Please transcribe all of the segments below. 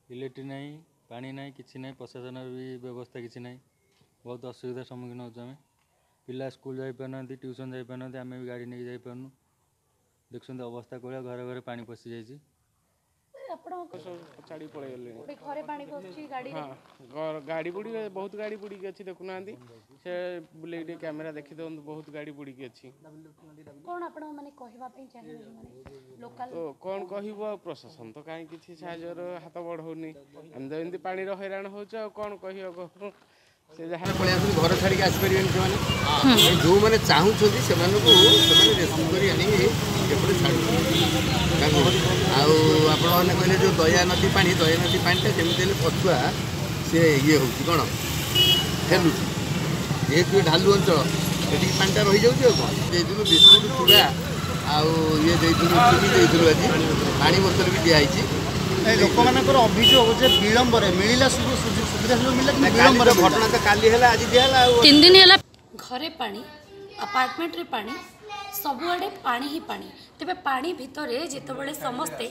Electric ନାହିଁ, ପାଣି ନାହିଁ, କିଛି ନାହିଁ, ପ୍ରଶାସନର ବି ବ୍ୟବସ୍ଥା କିଛି ନାହିଁ। ବହୁତ ଅସୁବିଧାର ସମ୍ମୁଖୀନ ହେଉଛୁ ଆମେ। ପିଲା ସ୍କୁଲ ଯାଇପାରୁନାହାନ୍ତି, ଟ୍ୟୁସନ୍ ଯାଇପାରୁନାହାନ୍ତି, ଆମେ ବି ଗାଡ଼ି ନେଇକି ଯାଇପାରୁନୁ। ଦେଖୁଛନ୍ତି ଅବସ୍ଥା କୋଉଭଳିଆ, ଘରେ ଘରେ ପାଣି ପଶିଯାଇଛି। ଆପଣ ସବୁ ଛାଡ଼ି ପଳେଇଗଲେଣି। ଘରେ ପାଣି ପଶୁଛି, ଗାଡ଼ିରେ? ହଁ, ଗାଡ଼ି ବୁଡ଼ି, ବହୁତ ଗାଡ଼ି ବୁଡ଼ିକି ଅଛି। ଦେଖୁନାହାନ୍ତି, ସେ ବୁଲେଇକି ଟିକେ କ୍ୟାମେରା ଦେଖିଦିଅନ୍ତୁ, ବହୁତ ଗାଡ଼ି ବୁଡ଼ିକି ଅଛି। କ'ଣ ଆପଣ ମାନେ କହିବା ପାଇଁ ଚାହିଁବେ ମାନେ ଲୋକାଲ? ତ କ'ଣ କହିବୁ ଆଉ, ପ୍ରଶାସନ ତ କାହିଁ କିଛି ସାହାଯ୍ୟର ହାତ ବଢ଼ଉନି। ଆମେ ତ ଏମିତି ପାଣିର ହଇରାଣ ହେଉଛୁ, ଆଉ କ'ଣ କହିବାକୁ। ସେ ଯାହା ପଳେଇ ଆସନ୍ତୁ, ଘର ଛାଡ଼ିକି ଆସିପାରିବେନି ସେମାନେ। ଯେଉଁମାନେ ଚାହୁଁଛନ୍ତି ସେମାନଙ୍କୁ ସେମାନେ ରେସ୍କ୍ୟୁ କରି ଆଣିକି ଏପଟେ ଛାଡ଼ୁଛନ୍ତି ତାଙ୍କୁ। ଆଉ ଆପଣମାନେ କହିଲେ ଯେଉଁ ଦୟା ନଦୀ ପାଣି, ଦୟା ନଦୀ ପାଣିଟା ଯେମିତି ହେଲେ ପଛୁଆ ସେ ଇଏ ହେଉଛି, କ'ଣ ଠେଲୁଛି, ଯେହେତୁ ଏ ଢାଲୁ ଅଞ୍ଚଳ, ଏଠିକି ପାଣିଟା ରହିଯାଉଛି। ଆଉ କ'ଣ ଦେଇଥିଲୁ, ବିସ୍କୁଟ, ଚୁଡ଼ା ଆଉ ଇଏ ଦେଇଥିଲୁ, ଚିନି ଦେଇଥିଲୁ, ଆଜି ପାଣି ବୋତଲ ବି ଦିଆହେଇଛି। ଲୋକମାନଙ୍କର ଅଭିଯୋଗ ଯେ ବିଳମ୍ବରେ ମିଳିଲା, ସୁବିଧା ସୁଯୋଗ ମିଳିଲା କିନ୍ତୁ ବିଳମ୍ବରେ। ଘଟଣା ତ କାଲି ହେଲା, ଆଜି ଦିଆହେଲା, ଆଉ 3 ଦିନ ହେଲା। ଘରେ ପାଣି, ଆପାର୍ଟମେଣ୍ଟରେ ପାଣି, ସବୁଆଡ଼େ ପାଣି ହିଁ ପାଣି। ତେବେ ପାଣି ଭିତରେ ଯେତେବେଳେ ସମସ୍ତେ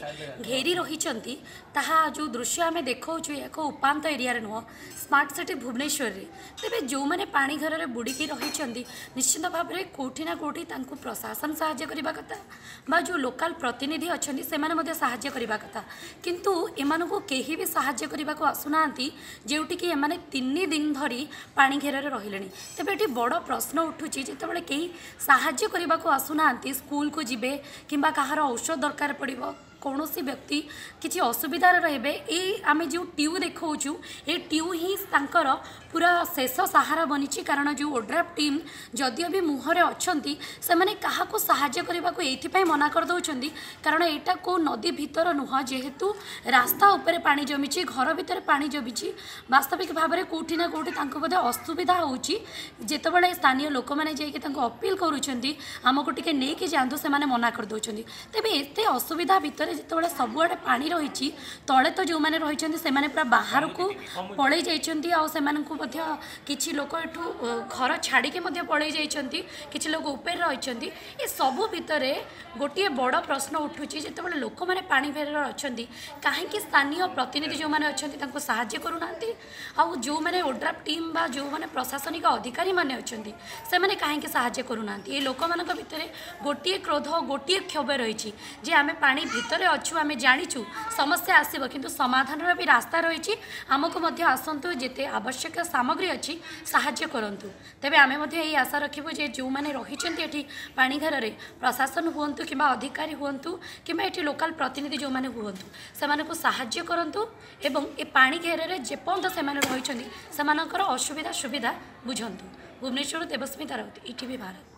ଘେରି ରହିଛନ୍ତି, ତାହା ଯେଉଁ ଦୃଶ୍ୟ ଆମେ ଦେଖାଉଛୁ ଏକ ଉପାନ୍ତ ଏରିଆରେ ନୁହଁ, ସ୍ମାର୍ଟ ସିଟି ଭୁବନେଶ୍ୱରରେ। ତେବେ ଯେଉଁମାନେ ପାଣି ଘରରେ ବୁଡ଼ିକି ରହିଛନ୍ତି, ନିଶ୍ଚିତ ଭାବରେ କେଉଁଠି ନା କେଉଁଠି ତାଙ୍କୁ ପ୍ରଶାସନ ସାହାଯ୍ୟ କରିବା କଥା ବା ଯେଉଁ ଲୋକାଲ ପ୍ରତିନିଧି ଅଛନ୍ତି ସେମାନେ ମଧ୍ୟ ସାହାଯ୍ୟ କରିବା କଥା। କିନ୍ତୁ ଏମାନଙ୍କୁ କେହି ବି ସାହାଯ୍ୟ କରିବାକୁ ଆସୁନାହାନ୍ତି, ଯେଉଁଠିକି ଏମାନେ 3 ଦିନ ଧରି ପାଣି ଘେରରେ ରହିଲେଣି। ତେବେ ଏଠି ବଡ଼ ପ୍ରଶ୍ନ ଉଠୁଛି, ଯେତେବେଳେ କେହି ସାହାଯ୍ୟ କରିବାକୁ ଆସୁନାହାନ୍ତି, ସ୍କୁଲକୁ ଯିବେ କିମ୍ବା କାହାର ଔଷଧ ଦରକାର ପଡ଼ିବ, କୌଣସି ବ୍ୟକ୍ତି କିଛି ଅସୁବିଧାରେ ରହିବେ, ଏଇ ଆମେ ଯେଉଁ ଟ୍ୟୁ ଦେଖାଉଛୁ ଏ ଟ୍ୟୁ ହିଁ ତାଙ୍କର ପୁରା ଶେଷ ସାହାରା ବନିଛି। କାରଣ ଯେଉଁ ଓଡ୍ରାଫ୍ ଟିମ୍ ଯଦିଓ ବି ମୁହଁରେ ଅଛନ୍ତି, ସେମାନେ କାହାକୁ ସାହାଯ୍ୟ କରିବାକୁ ଏଇଥିପାଇଁ ମନା କରିଦେଉଛନ୍ତି, କାରଣ ଏଇଟା କେଉଁ ନଦୀ ଭିତର ନୁହଁ। ଯେହେତୁ ରାସ୍ତା ଉପରେ ପାଣି ଜମିଛି, ଘର ଭିତରେ ପାଣି ଜମିଛି, ବାସ୍ତବିକ ଭାବରେ କେଉଁଠି ନା କେଉଁଠି ତାଙ୍କୁ ବୋଧେ ଅସୁବିଧା ହେଉଛି। ଯେତେବେଳେ ସ୍ଥାନୀୟ ଲୋକମାନେ ଯାଇକି ତାଙ୍କୁ ଅପିଲ କରୁଛନ୍ତି ଆମକୁ ଟିକେ ନେଇକି ଯାଆନ୍ତୁ, ସେମାନେ ମନା କରିଦେଉଛନ୍ତି। ତେବେ ଏତେ ଅସୁବିଧା ଭିତରେ ଯେତେବେଳେ ସବୁଆଡ଼େ ପାଣି ରହିଛି, ତଳେ ତ ଯେଉଁମାନେ ରହିଛନ୍ତି ସେମାନେ ପୁରା ବାହାରକୁ ପଳେଇ ଯାଇଛନ୍ତି, ଆଉ ସେମାନଙ୍କୁ ମଧ୍ୟ କିଛି ଲୋକ ଏଠୁ ଘର ଛାଡ଼ିକି ମଧ୍ୟ ପଳେଇ ଯାଇଛନ୍ତି, କିଛି ଲୋକ ଉପରେ ରହିଛନ୍ତି। ଏସବୁ ଭିତରେ ଗୋଟିଏ ବଡ଼ ପ୍ରଶ୍ନ ଉଠୁଛି, ଯେତେବେଳେ ଲୋକମାନେ ପାଣି ଘେରରେ ଅଛନ୍ତି, କାହିଁକି ସ୍ଥାନୀୟ ପ୍ରତିନିଧି ଯେଉଁମାନେ ଅଛନ୍ତି ତାଙ୍କୁ ସାହାଯ୍ୟ କରୁନାହାନ୍ତି, ଆଉ ଯେଉଁମାନେ ଓଡ୍ରାଫ୍ ଟିମ୍ ବା ଯେଉଁମାନେ ପ୍ରଶାସନିକ ଅଧିକାରୀମାନେ ଅଛନ୍ତି ସେମାନେ କାହିଁକି ସାହାଯ୍ୟ କରୁନାହାନ୍ତି? ଏ ଲୋକମାନଙ୍କ ଭିତରେ ଗୋଟିଏ କ୍ରୋଧ, ଗୋଟିଏ କ୍ଷୋଭ ରହିଛି ଯେ ଆମେ ପାଣି ଭିତରେ ଅଛୁ, ଆମେ ଜାଣିଛୁ ସମସ୍ୟା ଆସିବ, କିନ୍ତୁ ସମାଧାନର ବି ରାସ୍ତା ରହିଛି, ଆମକୁ ମଧ୍ୟ ଆସନ୍ତୁ, ଯେତେ ଆବଶ୍ୟକ ସାମଗ୍ରୀ ଅଛି ସାହାଯ୍ୟ କରନ୍ତୁ। ତେବେ ଆମେ ମଧ୍ୟ ଏହି ଆଶା ରଖିବୁ ଯେ ଯେଉଁମାନେ ରହିଛନ୍ତି ଏଠି ପାଣି ଘରରେ, ପ୍ରଶାସନ ହୁଅନ୍ତୁ କିମ୍ବା ଅଧିକାରୀ ହୁଅନ୍ତୁ କିମ୍ବା ଏଠି ଲୋକାଲ ପ୍ରତିନିଧି ଯେଉଁମାନେ ହୁଅନ୍ତୁ, ସେମାନଙ୍କୁ ସାହାଯ୍ୟ କରନ୍ତୁ ଏବଂ ଏ ପାଣି ଘେରରେ ଯେପର୍ଯ୍ୟନ୍ତ ସେମାନେ ରହିଛନ୍ତି ସେମାନଙ୍କର ଅସୁବିଧା ସୁବିଧା ବୁଝନ୍ତୁ। ଭୁବନେଶ୍ୱରରୁ ଦେବସ୍ମିତା ରାଉତ, ଇଟିଭି ଭାରତ।